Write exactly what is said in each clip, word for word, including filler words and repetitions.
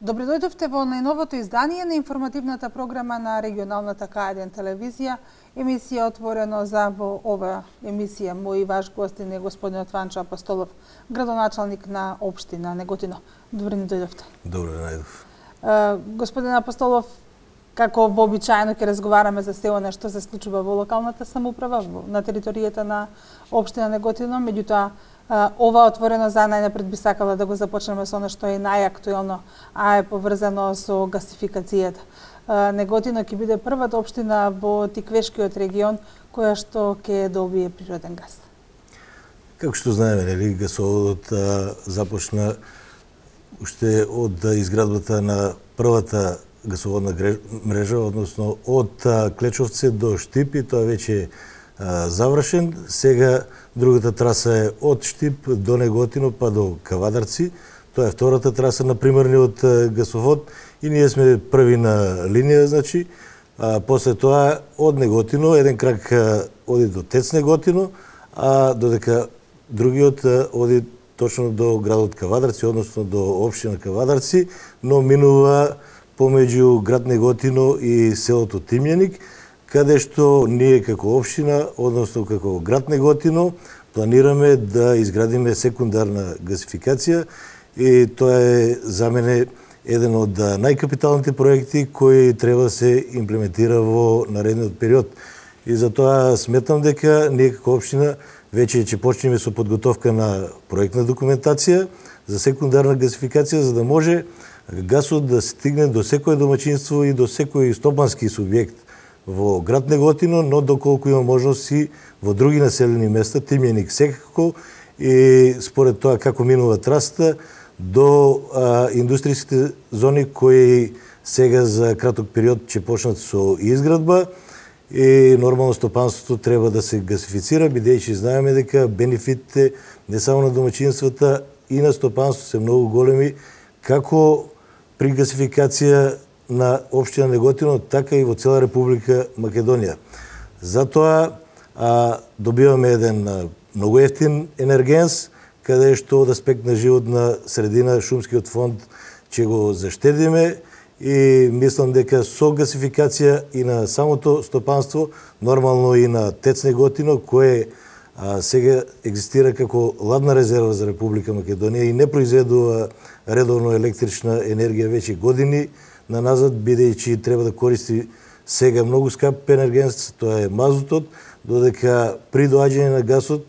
Добре дојдовте во најновото издание на информативната програма на регионалната К еден телевизија. Емисија отворено за во ова емисија мој ваш гостин е господинот Ванчо Апостолов, градоначалник на општина Неготино. Добре ни дојдовте. Добре најдов. Господин Апостолов, како вообичаено ќе разговараме за се она што се случува во локалната самоуправа на територијата на општина Неготино, меѓутоа ова отворено за најнапред би сакала да го започнеме со она што е најактуелно, а е поврзано со гасификацијата. Неготино ќе биде првата општина во Тиквешкиот регион која што ќе добие природен газ. Како што знаеме, нели, гасоводот започна уште од изградбата на првата гасоводна мрежа, односно од Клечовце до Штип, и тоа веќе е завршен. Сега другата траса е од Штип до Неготино па до Кавадарци. Тоа е втората траса на примерниот гасовод и ние сме први на линија, значи. А, после тоа од Неготино еден крак оди до Тец Неготино, а додека другиот оди точно до градот Кавадарци, односно до општина Кавадарци, но минува помеѓу град Неготино и селото Тимјаник, каде што ние како општина, односно како град Неготино, планираме да изградиме секундарна гасификација, и тоа е за мене еден од најкапиталните проекти кои треба да се имплементира во наредниот период. И затоа сметам дека ние како општина веќе ќе почнеме со подготовка на проектна документација за секундарна гасификација, за да може гасот да стигне до секое домаќинство и до секој стопански субјект во град Неготино, но доколку има можност и во други населени места, Тимјаник секако, и според тоа како минува трасата до а, индустријските зони кои сега за краток период ќе почнат со изградба, и нормално стопанството треба да се гасифицира, бидејќи знаеме дека бенефитите не само на домаќинствата и на стопанството се многу големи, како при гасификација на општина Неготино, така и во цела Република Македонија. Затоа а, добиваме еден а, многу ефтин енергенс, каде што од аспект на животна средина шумскиот фонд ќе го заштедиме, и мислам дека со гасификација и на самото стопанство, нормално и на Тец Неготино, кое а, сега екзистира како ладна резерва за Република Македонија и не произведува редовно електрична енергија веќе години наназад, бидејќи треба да користи сега многу скап енергенс, тоа е мазутот, додека при доаѓање на гасот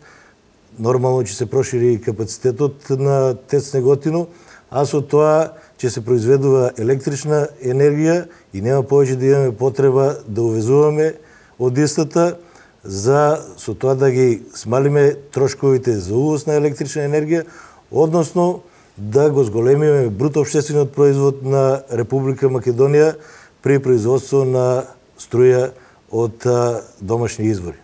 нормално ќе се прошири капацитетот на Тец Неготино, а со тоа ќе се произведува електрична енергија и нема повеќе да имаме потреба да увезуваме од истата, за со тоа да ги смалиме трошковите за увоз на електрична енергија, односно да го зголемиме бруто општествениот производ на Република Македонија при производство на струја од домашни извори.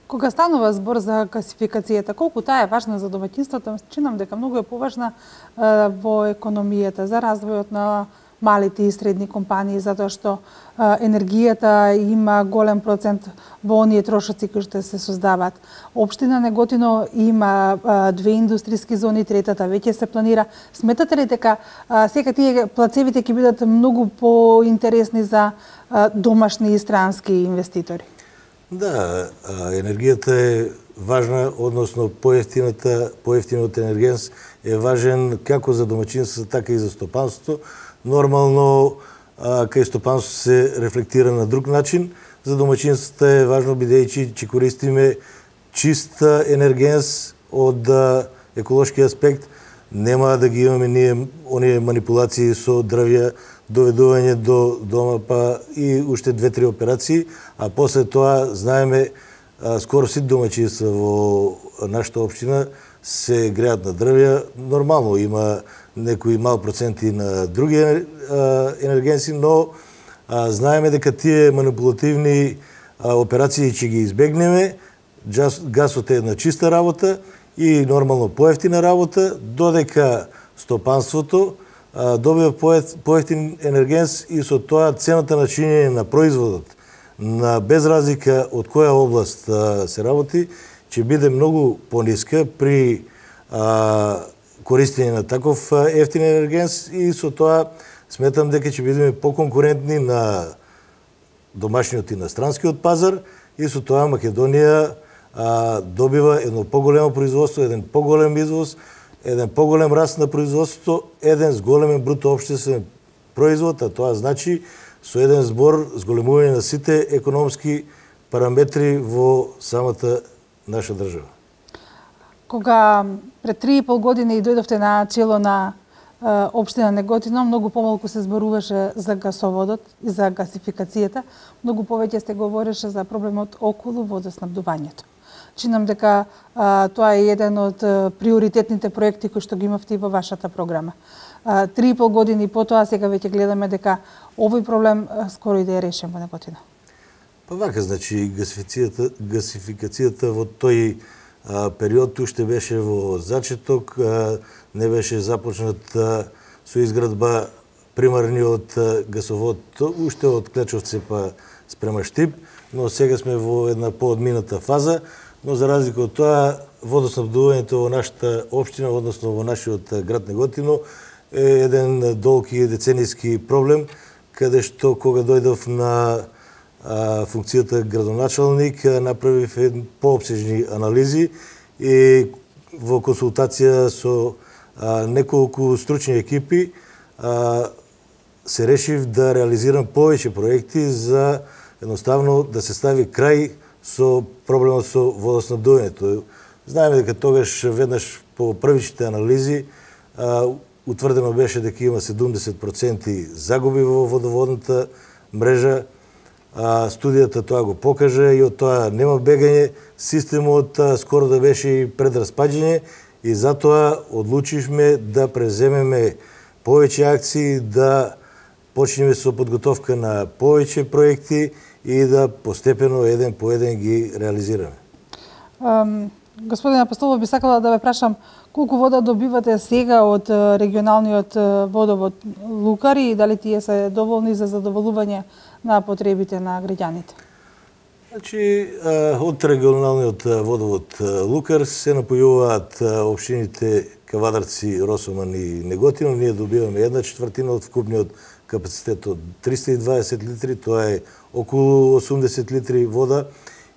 Кога станува збор за гасификацијата, колку таа е важна за домаќинството, чинам дека многу е поважна е, во економијата, за развојот на малите и средни компании, затоа што е, енергијата има голем процент во оние трошоци кои што се создаваат. Општина Неготино има е, две индустријски зони, третата веќе се планира. Сметате ли дека е, сега тие плацевите ќе бидат многу поинтересни за е, домашни и странски инвеститори? Да, енергијата е важна, односно поевтината, поевтиниот енергенс е важен како за домаќинството, така и за стопанството. Нормално, кај стопанството се рефлектира на друг начин. За домаќинството е важно, бидејќи ќе користиме чист енергенс од еколошки аспект. Нема да ги имаме ние оние манипулации со дрвја, доведување до дома, па и уште две-три операции, а после тоа знаеме скоро сите домаќинства во нашата општина се греат на дрвја. Нормално има некои мал проценти на други енергенси, но а, знаеме дека тие манипулативни а, операции ќе ги избегнеме. Гасот е една чиста работа и нормално поевтина работа, додека стопанството а, добива поевтин енергенс и со тоа цената на чинење на производот, на без разлика од која област а, се работи, ќе биде многу пониска при а, користење на таков ефтин енергенс, и со тоа сметам дека ќе бидеме поконкурентни на домашниот и на странскиот пазар и со тоа Македонија а, добива едно поголемо производство, еден поголем извоз, еден поголем раст на производството, еден зголемен бруто општествен производ, а тоа значи со еден збор зголемување на сите економски параметри во самата наша држава. Кога пред три и пол години дојдовте на чело на е, општина Неготино, многу помалку се зборуваше за гасоводот и за гасификацијата, многу повеќе се говореше за проблемот околу водоснабдувањето. Чинам дека а, тоа е еден од а, приоритетните проекти кои што ги имавте во вашата програма. А, три и пол години потоа сега веќе гледаме дека овој проблем а, скоро и да е решен во Неготино. Па вака, значи, гасификацијата, гасификацијата во тој а, период уште беше во зачеток, а, не беше започнат а, со изградба примарниот а, гасовод, уште од Клечовце па спрема Штип, но сега сме во една поодмината фаза, но за разлика од тоа, водоснабдувањето во нашата општина, односно во нашиот град Неготино, е еден долги деценијски проблем, каде што кога дојдов на а, функцијата градоначалник, направив еден поопсежни анализи и во консултација со а, неколку стручни екипи а, се решив да реализирам повеќе проекти за едноставно да се стави крај со проблемот со водоснабдувањето. Знаеме дека тогаш веднаш по првичните анализи а, утврдено беше дека има седумдесет проценти загуби во водоводната мрежа. А, студијата тоа го покаже и од тоа нема бегање. Системот а, скоро да беше и пред распаѓање и затоа одлучивме да преземеме повеќе акции, да почнеме со подготовка на повеќе проекти и да постепено еден по еден ги реализираме. Um, господин Апостолов, би сакала да ве прашам колку вода добивате сега од регионалниот водовод Лукари и дали тие се доволни за задоволување на потребите на граѓаните? Значи, од регионалниот водовод Лукар се напојуваат општините Кавадарци, Росоман и Неготино. Ние добиваме една четвртина од вкупниот капацитет од триста и дваесет литри, тоа е околу осумдесет литри вода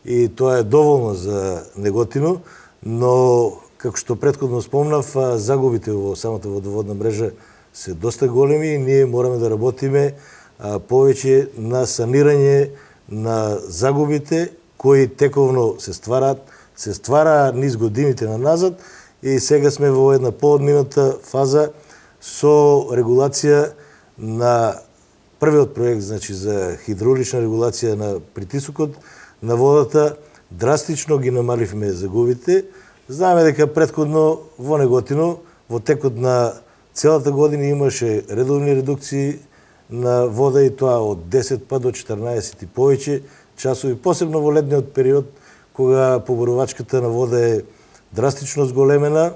и тоа е доволно за Неготино, но како што претходно спомнав, загубите во самата водоводна мрежа се доста големи и ние мораме да работиме повеќе на санирање на загубите кои тековно се ствараат, се ствараа низ годините на назад и сега сме во една поодмината фаза со регулација на првиот проект, значи за хидравлична регулација на притисокот на водата, драстично ги намаливме загубите. Знаеме дека претходно во Неготино, во текот на целата година имаше редовни редукции на вода и тоа од десет па до четрнаесет и повеќе часови, посебно во летниот период, кога поборувачката на вода е драстично зголемена.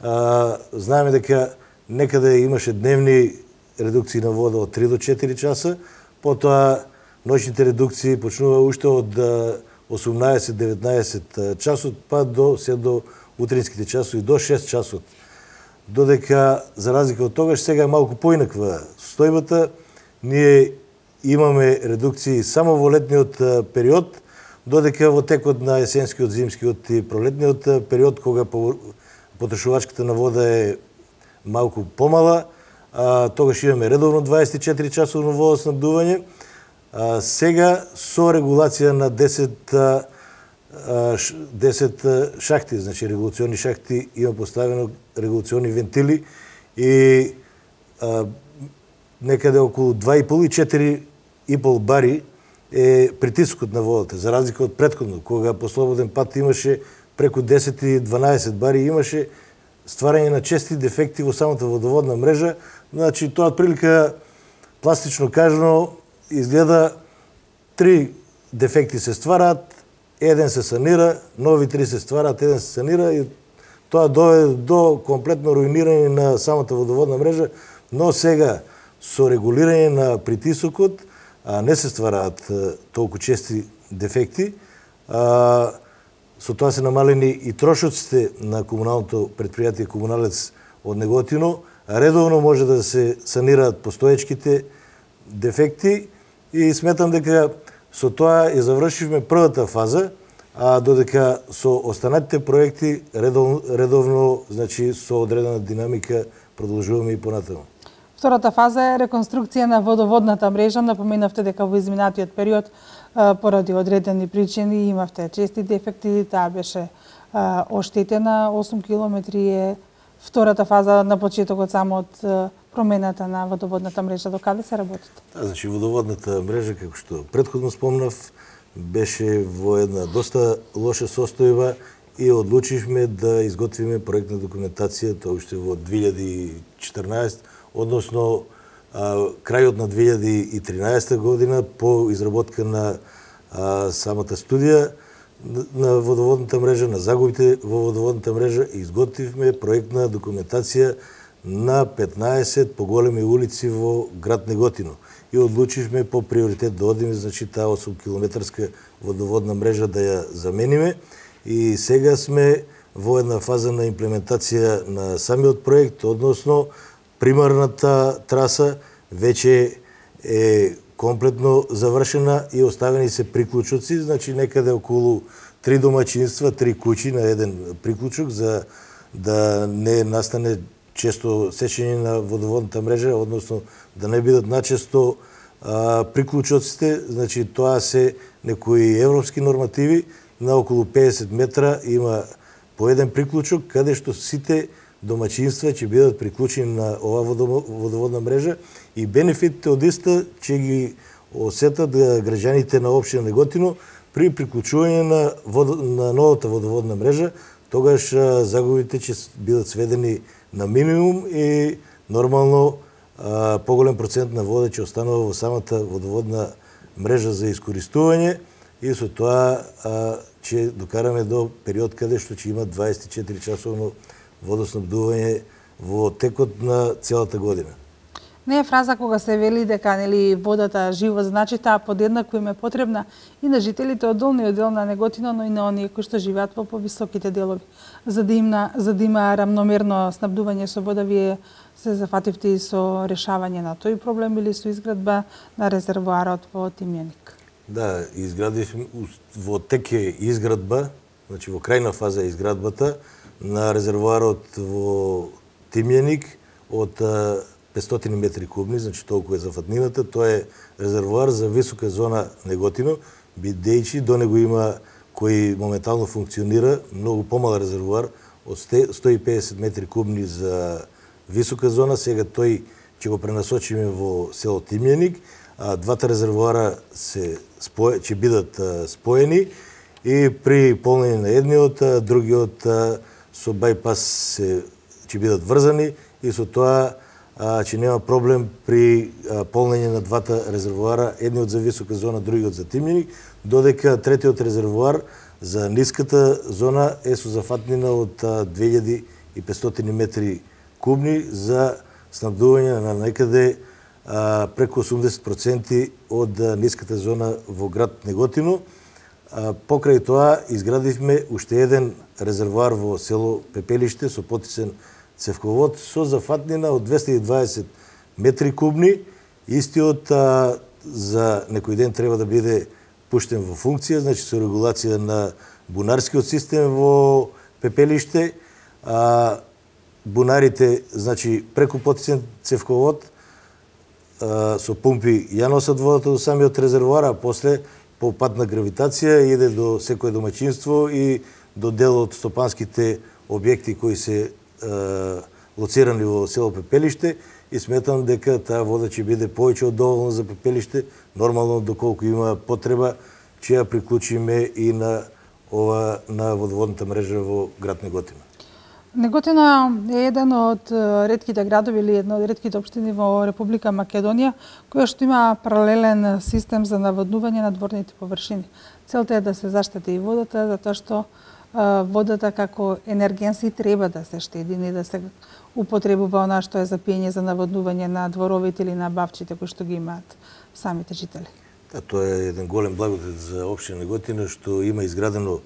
А, знаеме дека некаде имаше дневни редукции на вода од три до четири часа, потоа ноќните редукции почнува уште од осумнаесет-деветнаесет часот, па до се до утринските часови, до шест часот. Додека, за разлика од тогаш, сега е малку поинаква состојбата. Ние имаме редукции само во летниот период, додека во текот на есенскиот, зимскиот и пролетниот период, кога потрошувачката на вода е малку помала, а, тогаш имаме редовно дваесет и четири часово водоснабдување. А, сега со регулација на десет, а, десет шахти, значи регулациони шахти, има поставено регулациони вентили и а, некаде околу два и пол и четири и пол бари е притискот на водата, за разлика од претходно, кога по слободен пат имаше преку десет и дванаесет бари, имаше стварање на чести дефекти во самата водоводна мрежа. Значи, тоа отприлика, пластично кажано, изгледа три дефекти се ствараат, еден се санира, нови три се ствараат, еден се санира и тоа доведе до комплетно руинирање на самата водоводна мрежа, но сега со регулирање на притисокот, а не се ствараат толку чести дефекти, а, со тоа се намалени и трошоците на комуналното предпријатие Комуналец од Неготино, редовно може да се санираат постоечките дефекти и сметам дека со тоа ја завршивме првата фаза, а додека со останатите проекти редовно, редовно значи со одредена динамика продолжуваме и понатаму. Втората фаза е реконструкција на водоводната мрежа. Напоменавте дека во изминатиот период поради одредени причини имавте чести дефекти, таа беше оштетена. осум километри е втората фаза на почетокот само од промената на водоводната мрежа. До каде се работите? Да, значи водоводната мрежа, како што претходно спомнав, беше во една доста лоша состојба и одлучивме да изготвиме проектна документација тоа уште во две илјади и четрнаесета, односно а, крајот на две илјади и тринаесета година по изработка на а, самата студија на водоводната мрежа, на загубите во водоводната мрежа, изготвивме проектна документација на петнаесет поголеми улици во град Неготино и одлучивме по приоритет да одиме, значи таа осум километарска водоводна мрежа да ја замениме и сега сме во една фаза на имплементација на самиот проект, односно примарната траса веќе е комплетно завршена и оставени се приклучоци, значи некаде околу три домаќинства, три куќи на еден приклучок за да не настане често сечење на водоводната мрежа, односно да не бидат начесто а, приклучоците, значи тоа се некои европски нормативи, на околу педесет метра има по еден приклучок, каде што сите домаќинства ќе бидат приклучени на оваа водоводна мрежа и бенефитите од иста ќе ги осетат граѓаните на општина Неготино при приклучување на, вод... на новата водоводна мрежа, тогаш загубите ќе бидат сведени на минимум и нормално а, поголем процент на вода ќе останува во самата водоводна мрежа за искористување и со тоа а, ќе докараме до период каде што ќе има дваесет и четири часовно водоснабдување во текот на целата година. Не е фраза кога се вели дека нели водата живот, значи таа подеднакво им е потребна и на жителите од долниот дел на Неготино, но и на оние кои што живеат во повисоките делови. За да има за да има рамномерно снабдување со вода, вие се зафативте и со решавање на тој проблем или со изградба на резервоарот во Тимјаник? Да, изградивме во тек е изградба, значи во крајна фаза е изградбата на резервоарот во Тимјаник од петстотини метри кубни, значи толку е зафатнината. Тоа е резервоар за висока зона Неготино, бидејќи до него има кој моментално функционира многу помал резервоар од сто и педесет метри кубни за висока зона, сега тој ќе го пренасочиме во село Тимјаник, а двата резервоара се спој, ќе бидат споени и при полнење на едниот, другиот со бајпас се ќе бидат врзани и со тоа ќе нема проблем при полнење на двата резервоара, едниот за висока зона, другиот за Тимјаник, додека третиот резервоар за ниската зона е со зафатнина од две илјади и петстотини метри кубни за снабдување на некаде а, преку осумдесет проценти од а, ниската зона во град Неготино. А, покрај тоа изградивме уште еден резервоар во село Пепелиште со потисен цевковод со зафатнина од двесте и дваесет метри кубни. Истиот а, за некој ден треба да биде пуштен во функција, значи со регулација на бунарскиот систем во Пепелиште. А, бунарите, значи преку потисен цевковод а, со пумпи ја носат водата до самиот резервоар, а после по пат на гравитација иде до секое домаќинство и до дел од стопанските објекти кои се а, лоцирани во село Пепелиште и сметам дека таа вода ќе биде повеќе од доволна за Пепелиште, нормално доколку има потреба ќе ја приклучиме и на ова на водоводната мрежа во град Неготино. Неготино е еден од ретките градови или една од ретките општини во Република Македонија која што има паралелен систем за наводнување на дворните површини. Целта е да се заштити и водата, затоа што водата како енергенси треба да се штеди, не да се употребува она што е за пиење за наводнување на дворовите или на бавчите кои што ги имаат самите жители. Да, тоа е еден голем благодет за општина Неготино што има изградено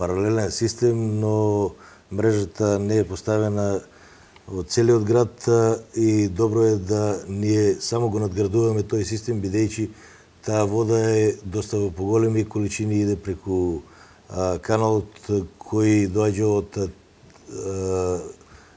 паралелен систем, но мрежата не е поставена во целиот град и добро е да ние само го надградуваме тој систем, бидејќи таа вода е доста во поголеми количини, иде преку а, каналот кој доаѓа од а,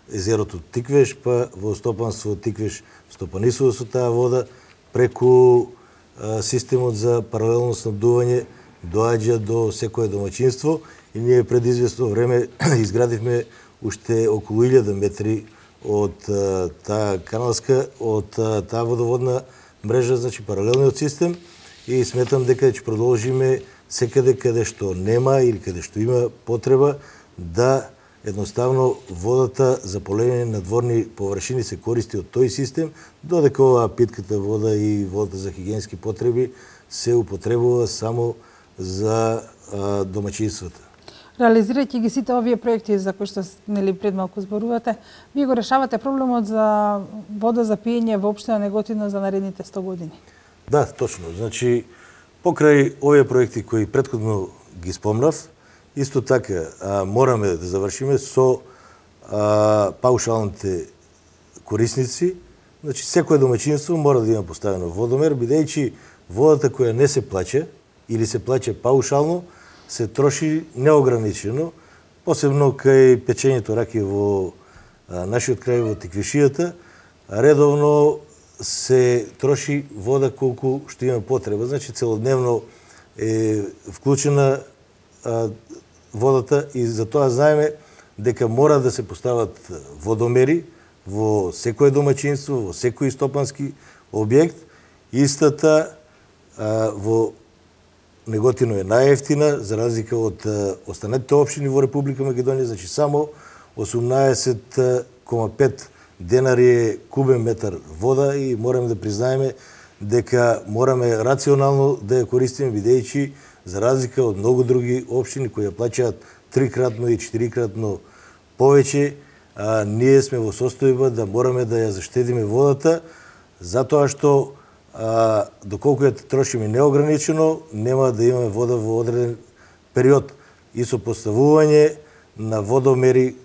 езерото Тиквеш, па во стопанство Тиквеш стопанисува со таа вода, преку а, системот за паралелно снабдување доаѓа до секое домаќинство и ние пред известно време изградивме уште околу илјада метри од а, таа каналска, од а, таа водоводна мрежа, значи паралелниот систем, и сметам дека ќе продолжиме секаде каде што нема или каде што има потреба да едноставно водата за полење на дворни површини се користи од тој систем, додека оваа питката вода и водата за хигиенски потреби се употребува само за а, домаќинствата. Реализирајќи ги сите овие проекти за кои што нели пред малку зборувате, вие го решавате проблемот за вода за пиење во општина Неготино за наредните сто години. Да, точно. Значи, покрај овие проекти кои претходно ги спомнав, исто така а, мораме да завршиме со а, паушалните корисници. Значи, секое домаќинство мора да има поставено водомер, бидејќи водата која не се плаќа или се плаќа паушално, се троши неограничено, посебно кај печењето раки во а, нашиот крај, во Тиквишијата, редовно се троши вода колку што има потреба. Значи, целодневно е вклучена а, водата и за тоа знаеме дека мора да се постават водомери во секое домаќинство, во секој стопански објект. Истата а, во Неготино е најевтина, за разлика од останатите општини во Република Македонија, значи само осумнаесет кома пет денари е кубен метар вода и мораме да признаеме дека мораме рационално да ја користиме, бидејќи за разлика од многу други општини кои ја плаќаат трикратно и четирикратно повеќе, а, ние сме во состојба да мораме да ја заштедиме водата, затоа што а, доколку ја трошиме неограничено, нема да имаме вода во одреден период и со поставување на водомери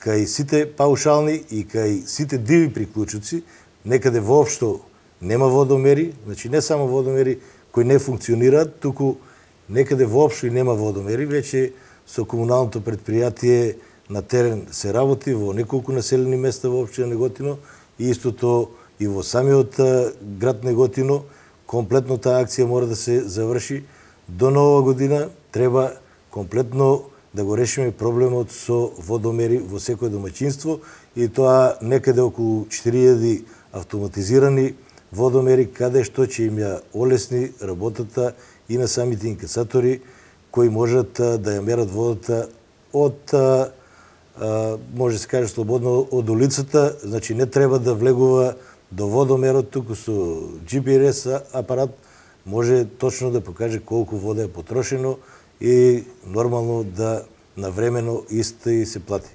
кај сите паушални и кај сите диви приклучоци, некаде воопшто нема водомери, значи не само водомери кои не функционираат, туку некаде воопшто и нема водомери, веќе со комуналното предпријатие на терен се работи во неколку населени места во општина Неготино и истото и во самиот град Неготино. Комплетно таа акција мора да се заврши до нова година. Треба комплетно да го решиме проблемот со водомери во секој домаќинство и тоа некаде околу четири илјади автоматизирани водомери каде што ќе им ја олесни работата и на самите инкасатори кои можат да ја мерат водата од, а, а, може се каже слободно, од улицата, значи не треба да влегува до водомерот, туку со Джи Пи Ес апарат може точно да покаже колку вода е потрошено и нормално да навремено исто и се плати.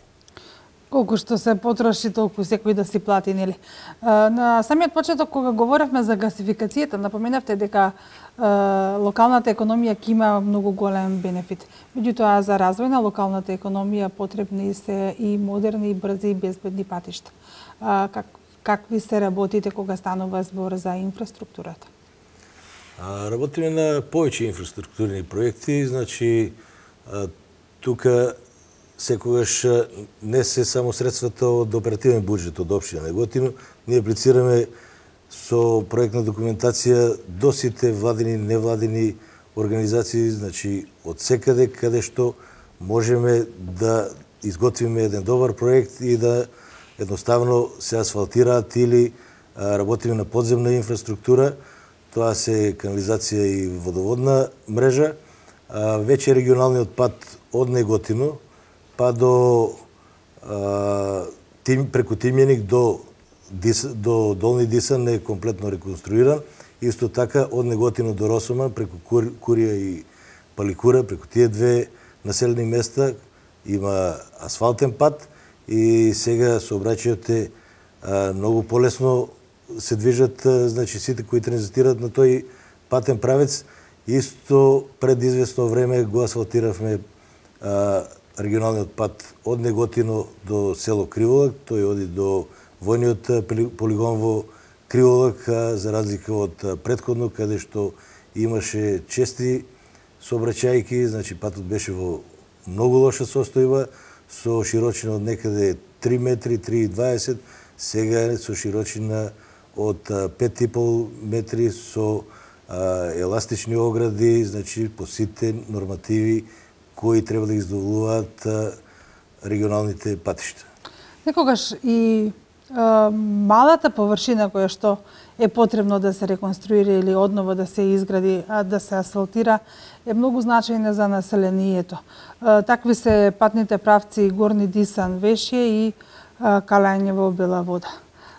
Колку што се потроши, толку секој да си плати, нели? На самиот почеток, кога говоревме за гасификацијата, напоменавте дека локалната економија ќе има многу голем бенефит. Меѓутоа, за развој на локалната економија потребни се и модерни, брзи и безбедни патишта. Как, какви се работите кога станува збор за инфраструктурата? А, работиме на повеќе инфраструктурни проекти, значи тука секогаш не се само средствата од оперативен буџет од општина Неготино, ние аплицираме со проектна документација до сите владини и невладини организации, значи од секаде каде што можеме да изготвиме еден добар проект и да едноставно се асфалтираат или а, работиме на подземна инфраструктура. Тоа се канализација и водоводна мрежа. А, веќе регионалниот пат од Неготино па до а, тим, преку Тимјаник до, Дис, до Долни Дисан е комплетно реконструиран. Исто така од Неготино до Росоман преку Кур, Курија и Паликура, преку тие две населени места има асфалтен пат и сега сообраќајот е а, многу полесно се движат, а, значи сите кои транзитираат на тој патен правец. Исто пред известно време го асфалтиравме а, регионалниот пат од Неготино до село Криволак, тој оди до војниот полигон во Криволак, за разлика од претходно, каде што имаше чести сообраќајки, значи патот беше во многу лоша состојба, со широчина од некаде три метри, три и дваесет, сега е со широчина од пет и пол метри, со а, еластични огради, значи по сите нормативи кои треба да издоволуваат регионалните патишта. Некогаш и а, малата површина која што е потребно да се реконструира или одново да се изгради, а да се асфалтира, е многу значајна за населението. А, такви се патните правци Горни Дисан, Вешје и а, Калањево, Бела Вода.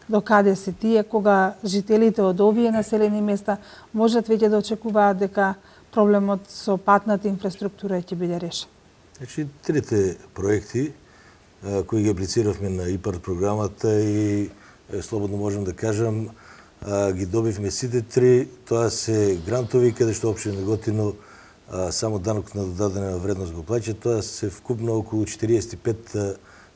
До каде се тие, кога жителите од овие населени места можат веќе да очекуваат дека проблемот со патната инфраструктура ќе биде решен? Значи, трите проекти а, кои ги аплициравме на ИПАРД програмата и е, слободно можам да кажам, а, ги добивме сите три. Тоа се грантови, каде што општина Неготино а, само данок на додадена вредност го плаќа. Тоа се вкупно околу четириесет и пет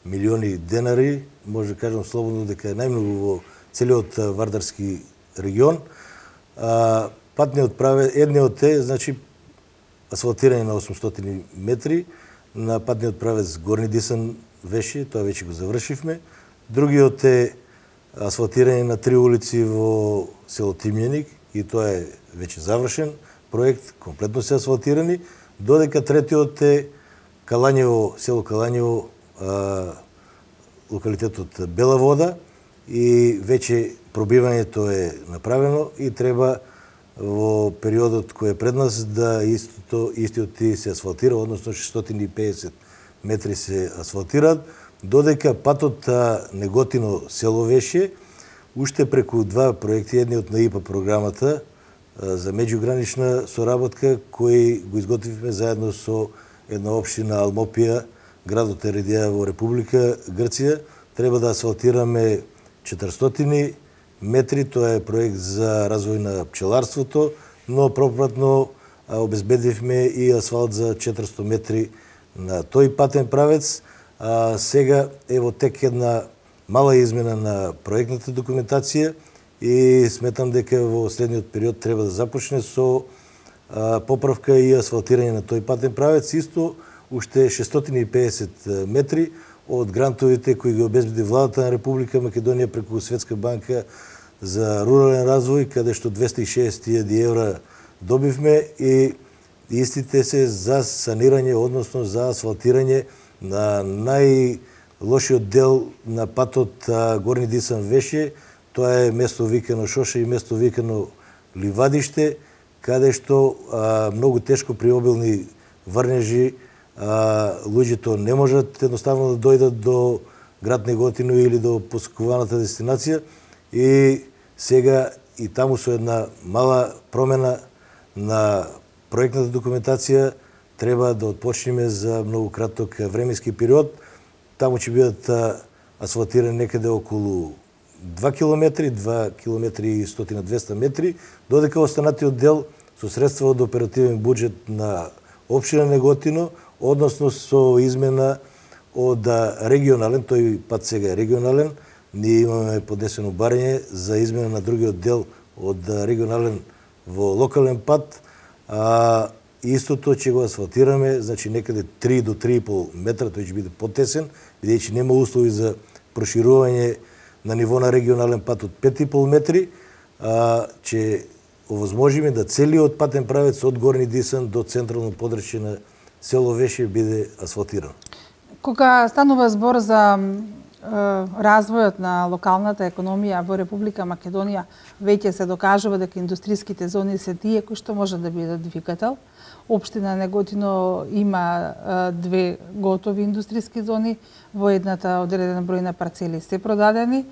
милиони денари. Може да кажам слободно дека е најмногу во целиот Вардарски регион. А, Патниот правец, едниот е, значи, асфалтирање на осумстотини метри, на патниот правец Горни Дисан, Вешје, тоа веќе го завршивме. Другиот е асфалтирање на три улици во село Тимјаник, и тоа е веќе завршен проект, комплетно се асфалтирани, додека третиот е Калањево, село Калањево, а, локалитетот Бела Вода, и веќе пробивањето е направено и треба во периодот кој е пред нас да истото, истиот ти се асфалтира, односно шестстотини и педесет метри се асфалтираат, додека патот Неготино село Вешје, уште преку два проекти, едниот на ИПА програмата за меѓугранична соработка, кој го изготвивме заедно со една општина Алмопија, градот Ередија во Република Грција, треба да асфалтираме четиристотини метри, тоа е проект за развој на пчеларството, но пропратно обезбедивме и асфалт за четиристотини метри на тој патен правец. А, сега е во тек една мала измена на проектната документација и сметам дека во следниот период треба да започне со а, поправка и асфалтирање на тој патен правец. Исто уште шестстотини и педесет метри од грантовите кои ги обезбеди владата на Република Македонија преку Светска банка за рурален развој, каде што двесте и шеесет илјади евра добивме, и истите се за санирање, односно за асфалтирање на најлошиот дел на патот Горни Дисан Вешје. Тоа е место викано Шоша и место викано Ливадиште, каде што а, многу тешко при обилни врнежи а, луѓето не можат едноставно да дојдат до град Неготино или до посекуваната дестинација, и сега и таму со една мала промена на проектната документација треба да отпочнеме за многу краток временски период. Таму ќе бидат асфалтирани некаде околу два километри, два километри и сто до двесте метри, додека останатиот дел со средства од оперативен буџет на општина Неготино, односно со измена од регионален, тој пат сега е регионален, ние имаме поднесено барање за измена на другиот дел од регионален во локален пат, а истото ќе го асфалтираме, значи некаде три до три и пол метра, тој ќе биде потесен, бидејќи нема услови за проширување на ниво на регионален пат од пет и пол метри, а, ќе овозможиме да целиот патен правец од Горни Дисан до централно подрачје на село Вешје биде асфалтиран. Кога станува збор за развојот на локалната економија во Република Македонија, веќе се докажува дека индустриските зони се тие кои што можат да бидат двигател. Општина Неготино има две готови индустриски зони, во едната одреден број на парцели се продадени,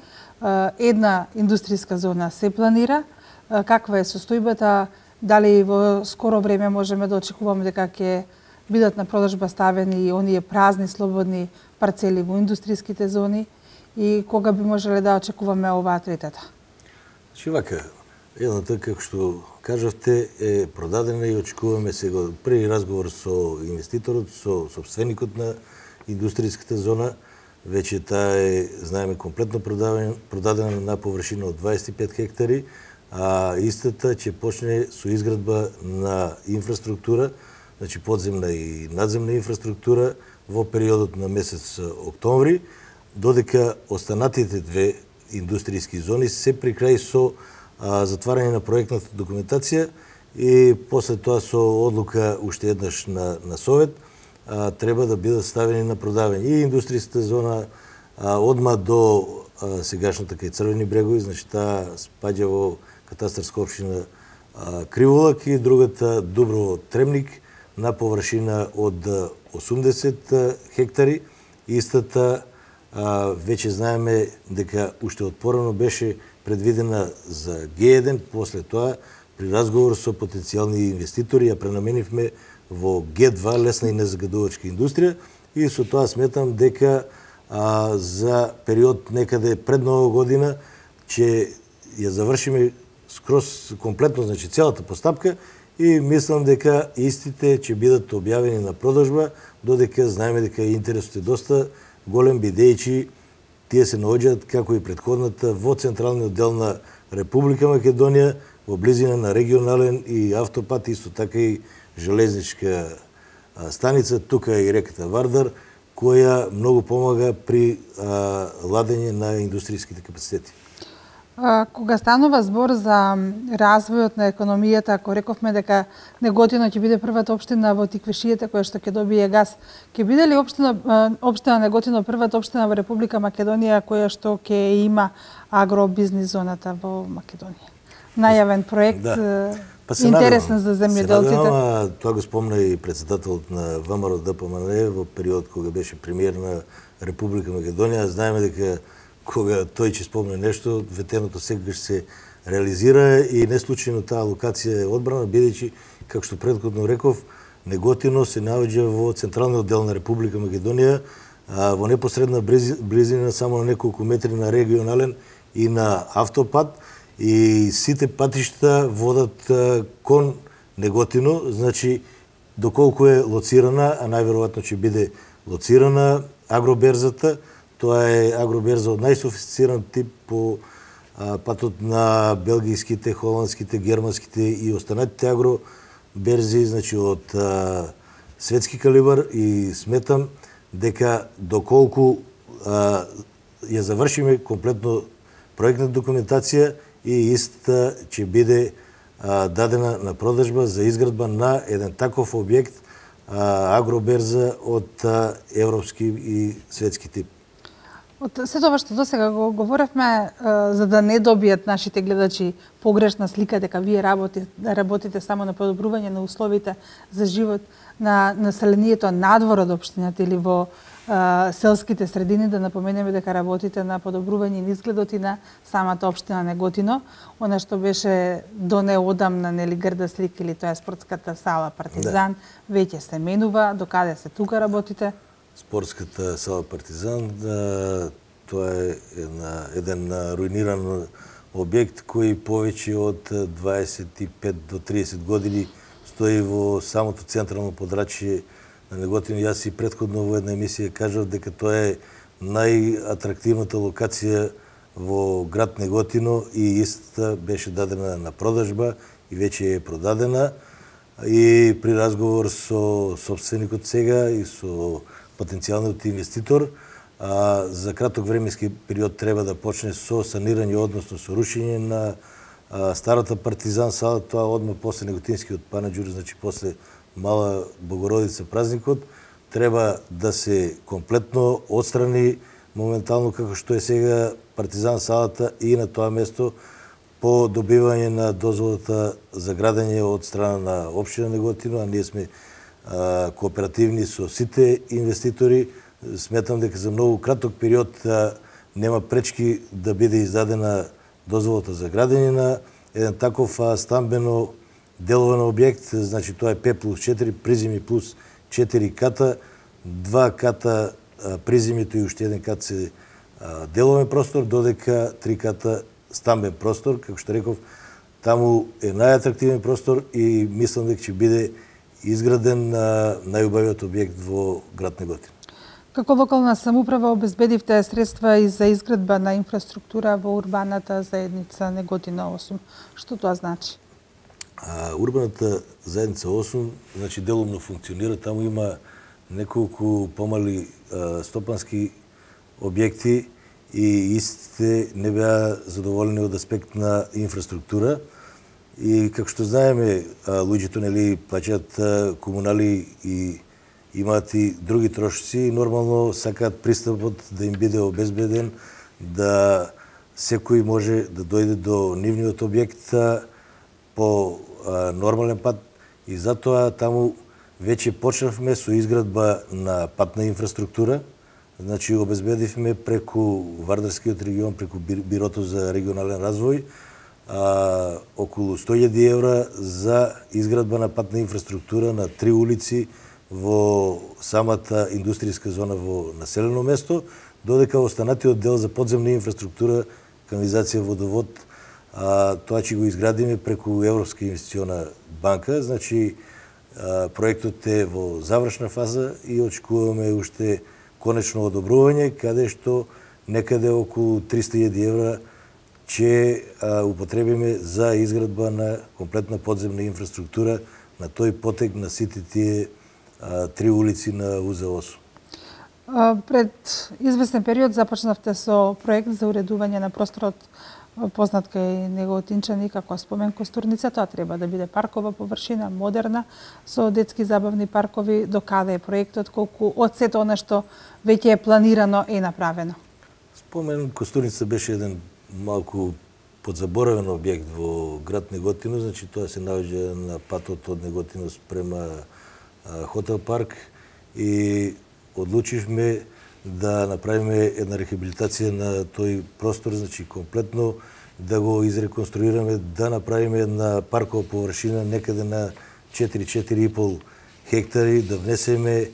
една индустриска зона се планира. Каква е состојбата? Дали во скоро време можеме да очекуваме дека ќе бидат на продажба ставени оние празни слободни парцели во индустриските зони, и кога би можеле да очекуваме оваа третата? Значи вака, Едната, како што кажавте, е продадена и очекуваме сега при разговор со инвеститорот, со собственикот на индустријската зона. Веќе таа е, знаеме, комплетно продадена на површина од дваесет и пет хектари, а истата ќе почне со изградба на инфраструктура, значи подземна и надземна инфраструктура во периодот на месец октомври, додека останатите две индустријски зони се при крај со а, затварање на проектната документација и после тоа со одлука уште еднаш на, на Совет а, треба да бидат ставени на продавање. И индустријската зона а, одма до а, сегашната кај Црвени брегови, значи таа спаѓа во катастарска општина а, Криволак, и другата Дуброво Тремник на површина од осумдесет хектари. Истата а, веќе знаеме дека уште од порано беше предвидена за Г еден, после тоа при разговор со потенцијални инвеститори ја пренаменивме во Г два, лесна и незагадувачка индустрија, и со тоа сметам дека а, за период некаде пред Нова година ќе ја завршиме скроз комплетно, значи целата постапка, и мислам дека истите ќе бидат објавени на продажба, додека знаеме дека интересот е доста голем, бидејќи тие се наоѓаат, како и претходната, во централниот дел на Република Македонија, во близина на регионален и автопат, исто така и железничка станица, тука и реката Вардар, која многу помага при а, ладење на индустријските капацитети. Кога станува збор за развојот на економијата, ако рековме дека Неготино ќе биде првата општина во Тиквишијата која што ќе добие газ, ќе биде ли општина општина Неготино првата општина во Република Македонија која што ќе има агробизнис зоната во Македонија? Најавен проект, да. Па интересен за земјоделците. Се надевам, тоа го спомна и председателот на ВМРО Д П М Н во период кога беше премиер на Република Македонија. Знаеме дека кога тој ќе спомне нешто, ветеното секогаш се реализира, и не случајно таа локација е одбрана, бидејќи, како што претходно реков, Неготино се наоѓа во централниот дел на Република Македонија, во непосредна близина само на неколку метри на регионален и на автопат, и сите патишта водат кон Неготино, значи доколку е лоцирана, а најверојатно ќе биде лоцирана агроберзата. Тоа е агроберза од најсофистициран тип по а, патот на белгijските, холандските, германските и останатите агроберзи, значи од а, светски калибар, и сметам дека доколку а, ја завршиме комплетно проектна документација, и истата ќе биде а, дадена на продажба за изградба на еден таков објект, а, агроберза од а, европски и светски тип. Од се тоа што досега го говоревме, за да не добијат нашите гледачи погрешна слика дека вие работите, работите само на подобрување на условите за живот на населението надвор од општината или во а, селските средини, да напоменеме дека работите на подобрување на изгледот и на самата општина Неготино, она што беше до неодамна, нели, грда слика, или тоа е спортската сала Партизан, да, веќе се менува, докаде се тука работите? Спортската сала Партизан, тоа е една, еден руиниран објект кој повеќе од дваесет и пет до триесет години стои во самото централно подрачје на Неготино. Јас и претходно во една емисија кажав дека тоа е најатрактивната локација во град Неготино, и истата беше дадена на продажба и веќе е продадена. И при разговор со собственикот сега и со потенцијалниот инвеститор, а, за краток временски период треба да почне со санирање, односно со рушење на а, старата Партизан сала, тоа одма после Неготинскиот панаџур, значи после Мала Богородица празникот, треба да се комплетно отстрани моментално како што е сега Партизан салата, и на тоа место по добивање на дозволата за градење од страна на општина Неготино, а ние сме а, кооперативни со сите инвеститори. Сметам дека за многу краток период а, нема пречки да биде издадена дозволата за градење на еден таков а, стамбено деловен објект. Значи тоа е пет плюс четири, приземи плюс четири ката, два ката а, приземито и уште еден кат се а, деловен простор, додека три ката стамбен простор. Како што реков, таму е најатрактивен простор и мислам дека ќе биде изграден на најубавиот објект во град Неготино. Како локална самоуправа обезбедивте средства и за изградба на инфраструктура во урбаната заедница Неготино осум. Што тоа значи? А, урбаната заедница осум, значи делумно функционира, таму има неколку помали а, стопански објекти и истите не беа задоволени од аспект на инфраструктура. И како што знаеме, луѓето нели плаќаат комунали и имаат и други трошоци и нормално сакаат пристапот да им биде обезбеден, да секој може да дојде до нивниот објект по а, нормален пат и затоа таму веќе почнавме со изградба на патна инфраструктура. Значи обезбедивме преку Вардарскиот регион, преку Бирото за регионален развој, а, околу сто илјади евра за изградба на патна инфраструктура на три улици во самата индустријска зона во населено место, додека останатиот дел за подземна инфраструктура, канализација, водовод, а, тоа ќе го изградиме преку Европска инвестициона банка. Значи а, проектот е во завршна фаза и очекуваме уште конечно одобрување, каде што некаде околу триста илјади евра ќе употребиме за изградба на комплетна подземна инфраструктура на тој потек на сите тие а, три улици на У З осум. Пред известен период започнавте со проект за уредување на просторот познат кај неготинчани како спомен Костурница. Тоа треба да биде паркова површина, модерна, со детски забавни паркови. До каде е проектот, колку од сето она што веќе е планирано е направено? Спомен Костурница беше еден малку подзаборавен објект во град Неготино, значи тоа се наоѓа на патот од Неготино спрема Хотел парк и одлучивме да направиме една рехабилитација на тој простор, значи комплетно да го изреконструираме, да направиме една паркова површина некаде на четири-четири и пол хектари, да внесеме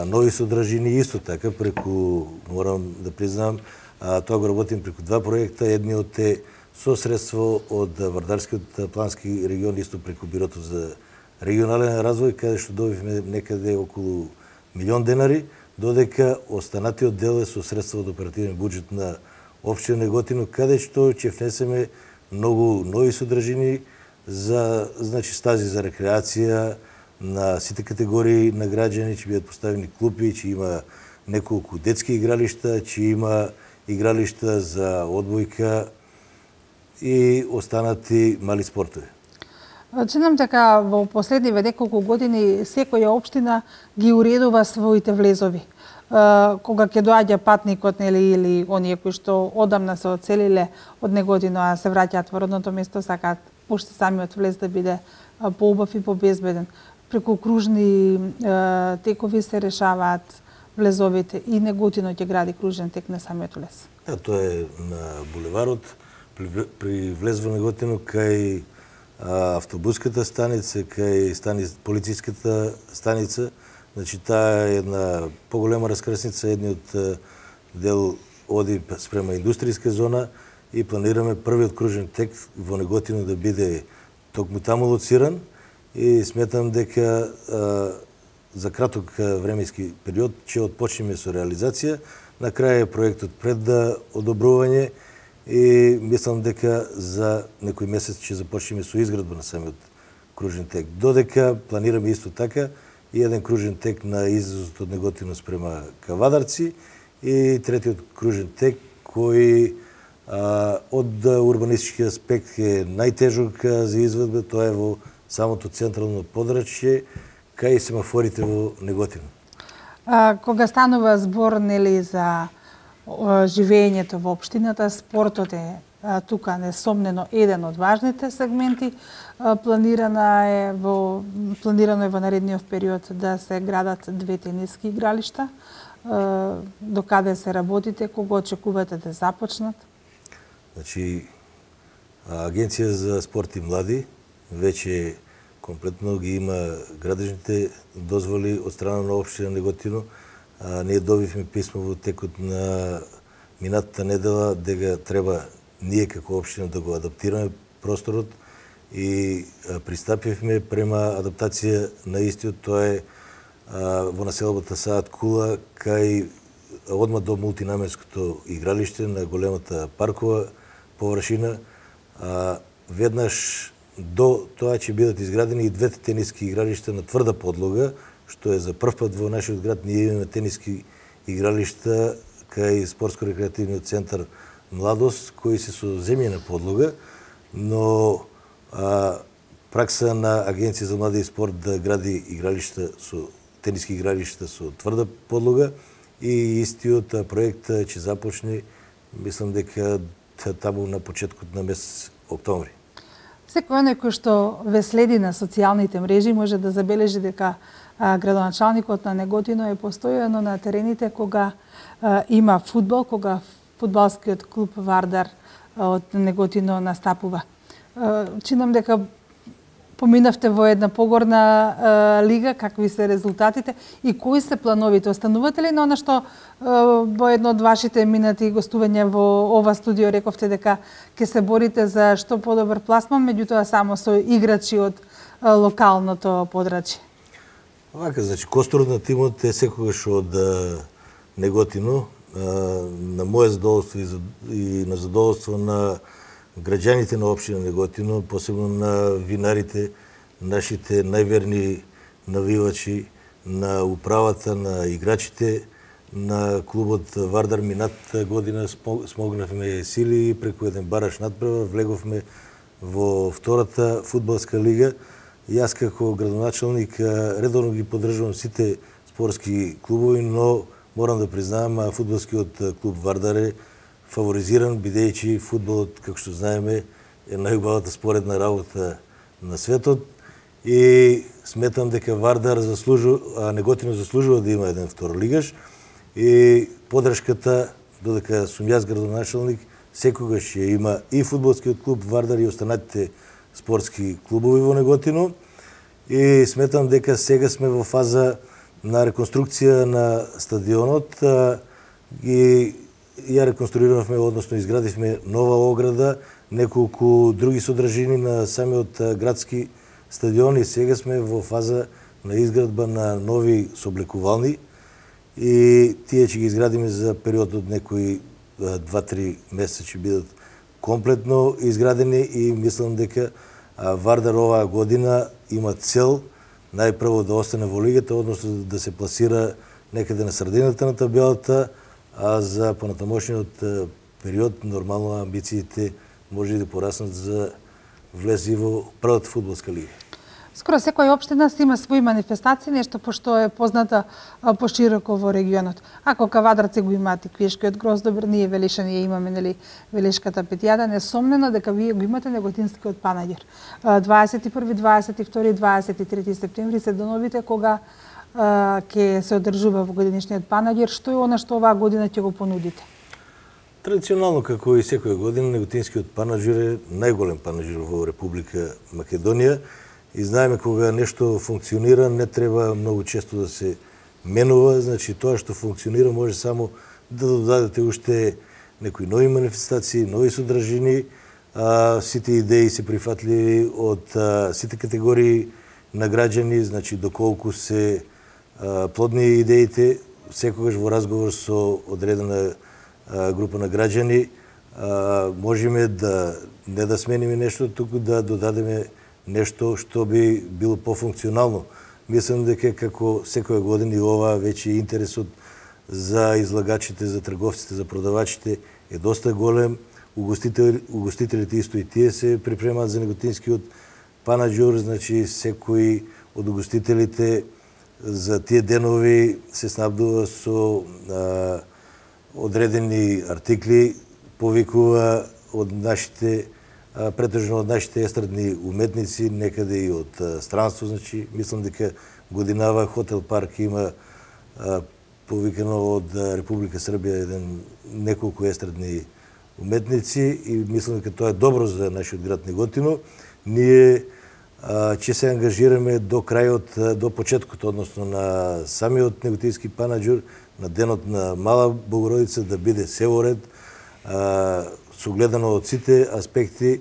нови содржини исто така преку, морам да признам, а, тоа го работим преку два проекта. Едниот е со средство од Вардарскиот плански регион, исто преку Бирото за регионален развој, каде што добивме некаде околу милион денари, додека останатиот дел е со средства од оперативен буџет на општина Неготино, каде што ќе внесеме многу нови содржини за, значи, стази за рекреација на сите категории на граѓани, ќе бидат поставени клупи, ќе има неколку детски игралишта, ќе има игралишта за одбојка и останати мали спортови. Чинам дека во последниве неколку години секоја општина ги уредува своите влезови. Кога ќе доаѓа патникот, нели, или оние кои што одамна се оцелиле од Неготино, а се враќаат во родното место, сакаат уште самиот влез да биде поубав и побезбеден. Преку кружни текови се решаваат влезовите и Неготино ќе гради кружен тек на самиот влез. Да, тоа е на булеварот, при, при влез во Неготино кај автобуската станица, кај стани, полициската станица. Значи, таа е една поголема раскрсница, едниот дел оди спрема индустријска зона и планираме првиот кружен тек во Неготино да биде токму таму лоциран и сметам дека а, за краток временски период ќе отпочнеме со реализација. На крај е проектот пред да одобрување и мислам дека за некој месец ќе започнеме со изградба на самиот кружен тек. Додека планираме исто така и еден кружен тек на излезот од Неготино спрема Кавадарци и третиот кружен тек кој а, од урбанистички аспект е најтежок за изведба, тоа е во самото централно подрачје кај семафорите во Неготино. А, кога станува збор, нели, за живеењето во општината, спортот е а, тука несомнено еден од важните сегменти. А, планирана е во планирано е во наредниот период да се градат две тениски игралишта. А, до каде се работите, кога очекувате да започнат? Значи, Агенција за спорт и млади веќе комплетно ги има градежните дозволи од страна на општина Неготино. А, ние добивме писмо во текот на минатата недела дека треба ние како општина да го адаптираме просторот и пристапивме према адаптација на истиот. Тоа е во населбата Саат Кула, кај одма до мултинаменското игралиште на големата паркова површина. Веднаш до тоа ќе бидат изградени и двете тениски игралишта на тврда подлога, што е за прв пат во нашиот град. Ние имаме тениски игралишта кај спортско-рекреативниот центар Младост, кои се со земјена подлога, но а, пракса на Агенција за млади и спорт да гради игралишта со тениски игралишта со тврда подлога и истиот проект ќе започне, мислам дека таму на почетокот на месец октомври. Секој оној кој што ве следи на социјалните мрежи може да забележи дека а, градоначалникот на Неготино е постојано на терените кога а, има фудбал, кога фудбалскиот клуб Вардар а, од Неготино настапува. А, чинам дека поминавте во една погорна а, лига, какви се резултатите и кои се плановите? Останувате ли на она што а, во едно од вашите минати гостувања во ова студио рековте дека ќе се борите за што подобар пласман, меѓутоа само со играчи од а, локалното подрачје? Вака, значи, костурот на тимот е секогаш од а, Неготино, а, на моје задоволство и, за, и на задоволство на граѓаните на општина Неготино, посебно на винарите, нашите најверни навивачи, на управата, на играчите, на клубот Вардар. Минатата година смогнавме сили и преку еден бараш надпревар влеговме во втората фудбалска лига. Јас како градоначалник редовно ги поддржувам сите спортски клубови, но морам да признавам фудбалскиот клуб Вардар е фаворизиран, бидејќи фудбалот, како што знаеме, е најубавата споредна работа на светот и сметам дека Вардар заслужува, а Неготино заслужува да има еден второлигаш и подршката, додека сум јас градоначалник, секогаш ја има и фудбалскиот клуб Вардар и останатите спортски клубови во Неготино и сметам дека сега сме во фаза на реконструкција на стадионот и ја реконструиравме, односно изградивме нова ограда, неколку други содржини на самиот градски стадион и сега сме во фаза на изградба на нови сооблекувални и тие ќе ги изградиме за период од некои два-три месеца ќе бидат комплетно изградени и мислам дека Вардар оваа година има цел најпрво да остане во лигата, односно да се пласира некаде на средината на табелата, а за понатамошниот период нормално амбициите може да пораснат за влези во првата фудбалска лига. Скоро секоја општина си има своји манифестации, нешто пошто е позната пошироко во регионот. Ако Кавадарци го имаат и Квешкиот гроздобар, ние Велишани ја имаме, нели, Велишката петијада, несомнено дека вие го имате Неготинскиот Панаѓер. дваесет и први, дваесет и втори, дваесет и трети септември се деновите кога ќе се одржува во годинишниот Панаѓер. Што е она што оваа година ќе го понудите? Традиционално, како и секоја година, Неготинскиот Панаѓер е најголем панаѓер во Република Македонија. И знаеме кога нешто функционира, не треба многу често да се менува, значи тоа што функционира може само да додадете уште некои нови манифестации, нови содржини, а, сите идеи се прифатливи од а, сите категории на граѓани, значи доколку се а, плодни идеите, секогаш во разговор со одредена а, група на граѓани, а, можеме да не да смениме нешто, туку да додадеме нешто што би било пофункционално. Мислам дека како секоја година и ова веќе интересот за излагачите, за трговците, за продавачите е доста голем. Угостител, угостителите исто и тие се припремаат за Неготинскиот Панаѓер, значи секој од угостителите за тие денови се снабдува со а, одредени артикли, повикува од нашите претежно од нашите естрадни уметници, некаде и од странство, значи мислам дека годинава Хотел Парк има а, повикано од Република Србија еден неколку естрадни уметници и мислам дека тоа е добро за нашиот град Неготино. Ние а, ќе се ангажираме до крајот, до почеткот, односно на самиот Неготински Панаѓер, на денот на Мала Богородица, да биде се во ред, а, согледано од сите аспекти,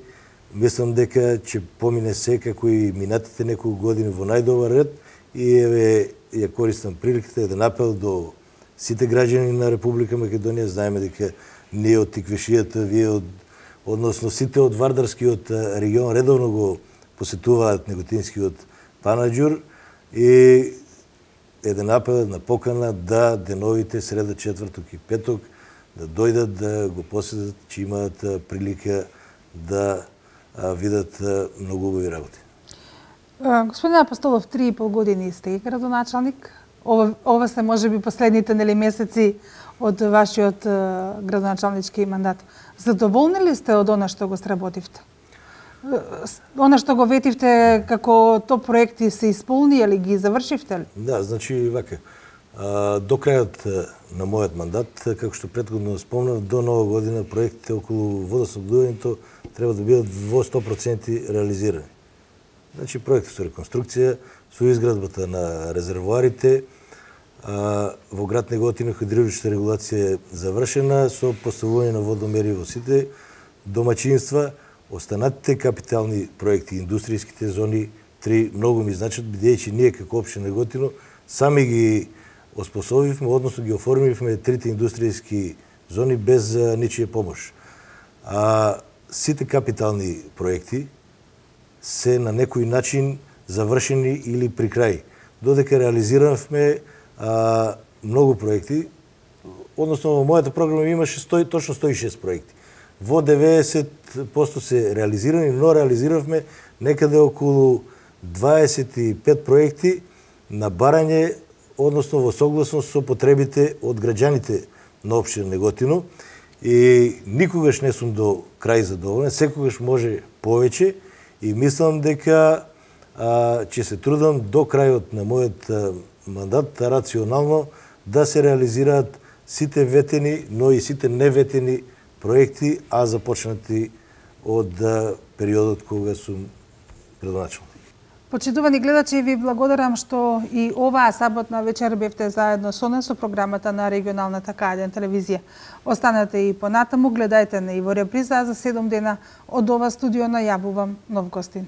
Мислам дека ќе помине се како и минатите неколку години во најдобар ред и еве ја користам приликата да напел до сите граѓани на Република Македонија. Знаеме дека ние од Тиквешијата, вие од односно сите од Вардарскиот регион редовно го посетуваат Неготинскиот Панаџур и еден апел, една покана да деновите среда, четврток и петок да дојдат да го посетат, че имаат прилика да видат многу убави работи. Господин Апостолов, три и пол години сте градоначалник. Ова, ова се можеби последните нели месеци од вашиот градоначалнички мандат. Задоволни ли сте од она што го сработивте? Она што го ветивте како топ проекти се исполни или ги завршивте ли? Да, значи вака. До крајот на мојот мандат, како што претходно спомнав, до нова година проектите околу водоснабдувањето треба да бидат во сто проценти реализирани. Значи проекти со реконструкција, со изградбата на резервоарите, во град Неготино хидравличната регулација е завршена со поставување на водомери во сите домаќинства. Останатите капитални проекти, индустријските зони, три многу ми значат, бидејќи ние како општина Неготино сами ги оспособивме, односно ги оформивме трите индустријски зони без ничија помош. А сите капитални проекти се на некој начин завршени или при крај. Додека реализиравме а, многу проекти, односно во мојата програма имаше сто, точно сто и шест проекти. Во деветдесет проценти се реализирани, но реализиравме некаде околу дваесет и пет проекти на барање, односно во согласност со потребите од граѓаните на општина Неготино. И никогаш не сум до крај задоволен, секогаш може повеќе и мислам дека а, ќе се трудам до крајот на мојот а, мандат рационално да се реализираат сите ветени, но и сите неветени проекти, а започнати од а, периодот кога сум градоначалник. Почитувани гледачи, ви благодарам што и оваа саботна вечер бевте заедно со нас со програмата на регионалната К еден телевизија. Останете и понатаму, гледајте на и во реприза, за седум дена од ова студио најавувам нов гостин.